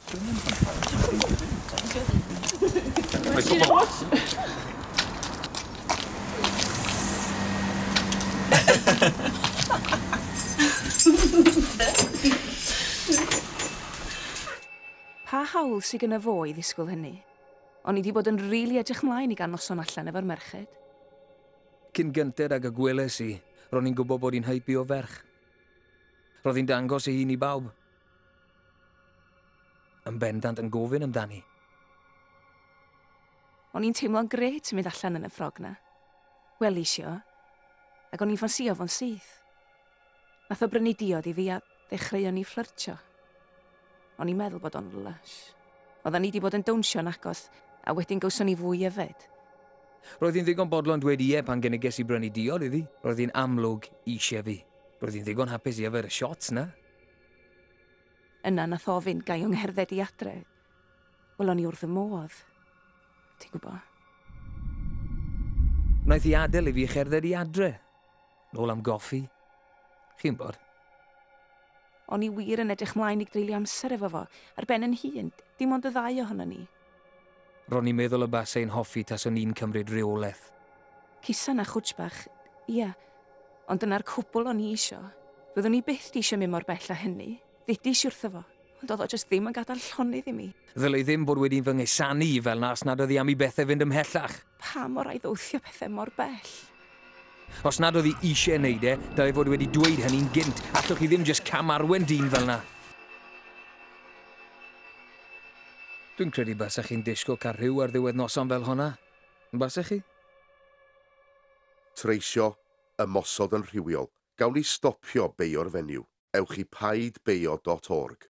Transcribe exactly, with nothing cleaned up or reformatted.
Pa hawl sydd gynno fo i ddisgwyl hynny? O'n i wedi bod yn rili edrych mlaen i gael noson allan efo'r merched. Cyn gynted ag y gweles i, ro'n i'n gwybod bod hi'n heibio ferch. Roedd hi'n dangos ei hun i bawb. Yn bendant yn gofyn amdani. O'n i'n teimlo'n grêt yn mynd allan yn y ffrog 'na. Welis i o, ac o'n i'n ffansio fo'n syth. Nath o brynu diod i fi a ddechreuon ni fflyrtio. O'n i'n meddwl bod o'n lush. Oedden ni wedi bod yn downsio'n agos, a wedyn gawson ni fwy yfed. Roedd hi'n ddigon bodlon dweud ie pan gyniges i brynu diod iddi. Roedd hi'n amlwg eisiau fi. Roedd hi'n ddigon hapus i yfed y shots 'na. Yna nath ofyn gai o ngherdded i adre. Wel, o'n i wrth y modd. Ti'n gwybod? Wnaeth hi adael i fi cherdded i adre. Nôl am goffi. Chi'n bod? O'n i wir yn edrych mlaen i dreulio amser efo fo, ar ben yn hun, dim ond y ddau ohonon ni. Ro'n i'n meddwl y basai'n hoffi taswn i'n cymryd rheolaeth. Cusan a chwtsh bach, ia. Ond dyna'r cwbl o'n i isio. Fyddwn i byth di isio mynd mor bell â hynny. Ddudis i wrtho fo, ond oedd o jyst ddim yn gadael llonydd i mi. Ddylai ddim bod wedi fy ngusanu i fel 'na os nad oedd hi am i bethau fynd ymhellach. Pam o rai ddwthio pethau mor bell? Os nad oedd hi eisiau wneud e, dylai fod wedi dweud hynny'n gynt. Allwch chi ddim jyst cam arwen dyn fel 'na. Dwi'n credu basech chi'n disgwyl cael rhyw ar ddiwedd noson fel honna. Basech chi? Treisio, ymosod yn rhywiol. Gawn ni stopio beio'r fenyw. Ewch i paid beio dot org.